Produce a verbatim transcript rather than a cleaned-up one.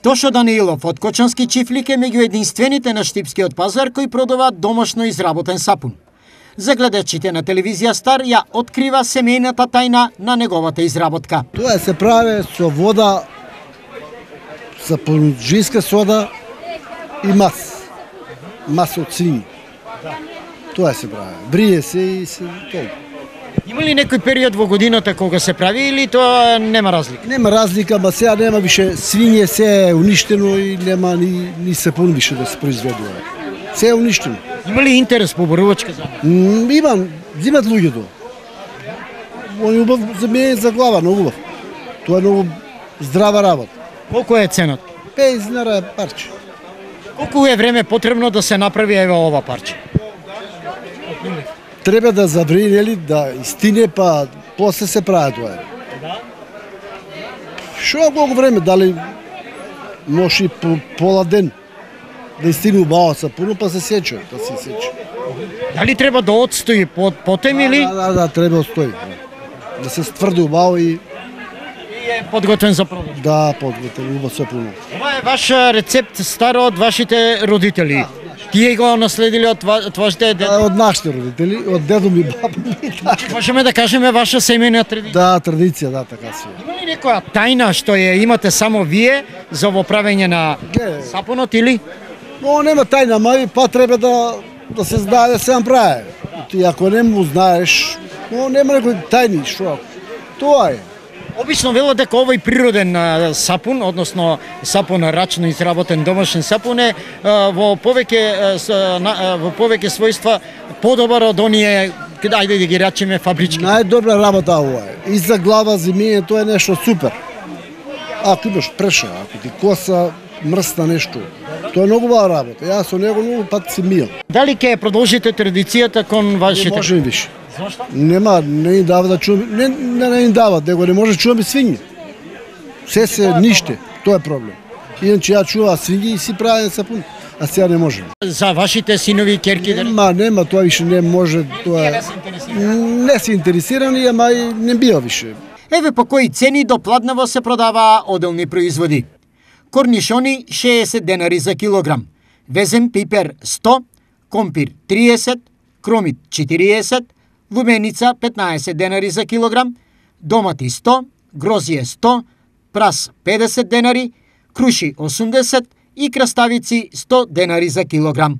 Тошо Данилов од Кочански чифлик е меѓу единствените на штипскиот пазар кои продаваат домашно изработен сапун. За гледачите на телевизија Стар ја открива семејната тајна на неговата изработка. Тоа се прави со вода, сапунџиска сода и мас. Мас од свињи. Тоа се прави. Брие се и се толку. Има ли некој период во годината кога се прави или тоа нема разлика? Нема разлика, ма сега нема више свиње, се е уништено и нема ни, ни сапун више да се произведува. Се е уништено. Има ли интерес по борувачка за м, Има, зимат луѓето. Он е убав за мене за глава, но убав. Тоа е многу здрава работа. Колку е цената? петдесет динара парче. Колку е време потребно да се направи ева ова парче? Треба да заври, нели, да истине, па после се прави тоа. Да. Шо колку време, дали може и по, пола ден да истине убаво сапуно, па се сече, па се сече. Дали треба да отстои под потем или? Да, да, да, треба да стои. Да се стврди убаво и И е подготвен за продаж. да подготвен убаво сапуно. Ова е ваш рецепт стар од вашите родители. Тие го наследили од твоите деда? Од нашите родители, од дедо ми, баба ми. Можеме да кажеме ваша семејна традиција. Да, традиција, да, така си. Има ли некоја тајна што ја имате само вие за во правење на Ге. сапунот или? Но нема тајна, мај, па треба да да се знае да се направи. Ти ако не му знаеш, но нема некој тајни, што? Тоа е. Обично велат дека овој природен а, сапун, односно сапун рачно изработен домашен сапун е а, во повеќе а, с, на, а, во повеќе својства подобар од оние, ајде да ги речеме, фабрички. Најдобра работа ова е. И за глава зимење тоа е нешто супер. Ако имаш преша, ако ти коса мрсна нешто, тоа е многу убава работа. Јас со него многу пат си мијал. Дали ќе продолжите традицијата кон Не вашите? може више. Зошто? Нема, не им дава да чуваме, не, не, не им дава, него не може да чуваме свињи. Се се ниште, тоа е проблем. Иначе ја чува свињи и си правим сапун, а сега не може. За вашите синови и ќерки дали? Нема, нема, тоа више не може, тоа е. Не се интересира. Не се интересирани, ама и не бива више. Еве по кои цени до Пладнево се продаваа оделни производи. Корнишони шеесет денари за килограм, везен пипер сто, компир триесет, кромит четириесет, лубеница петнаесет денари за килограм, домати сто, грозје сто, прас педесет денари, круши осумдесет и краставици сто денари за килограм.